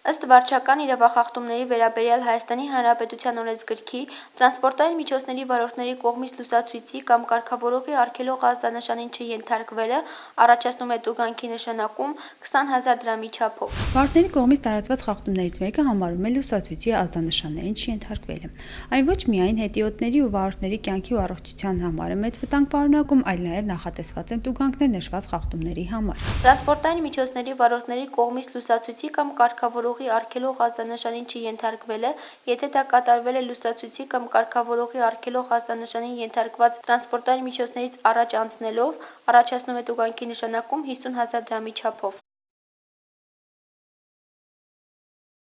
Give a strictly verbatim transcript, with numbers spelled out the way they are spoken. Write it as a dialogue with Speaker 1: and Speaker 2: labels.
Speaker 1: Ըստ վարչական իրավախախտումների վերաբերյալ Հայաստանի Հանրապետության օրենսգրքի, տրանսպորտային միջոցների վարորդների կողմից լուսացույցի կամ կարգավորողի արգելող ազդանշանին չենթարկվելը առաջացնում է տուգանքի նշանակում քսան հազար դրամի չափով։
Speaker 2: Վարորդների կողմից տարածված խախտումներից մեկը համարվում է լուսացույցի ազդանշաններին չենթարկվելը։ Այն ոչ միայն հետիոտների ու վարորդների կյանքի ու առողջության համար է մեծ վտանգ պարունակում, այլ նաև նախատեսված են տուգանքներ նշված խախտումների համար։
Speaker 1: Տրանսպորտային միջոցների վարորդների կողմից լուսացույցի կամ կարգավորողի արգելող ազդանշանին չենթարկվելը, եթե դա կատարվել է լուսացույցի կամ կարգավորողի արգելող ազդանշանին ենթարկված տրանսպորտային միջոցներից առաջ անցնելով, առաջացնում է տուգանքի նշանակում հիսուն հազար դրամի չափով։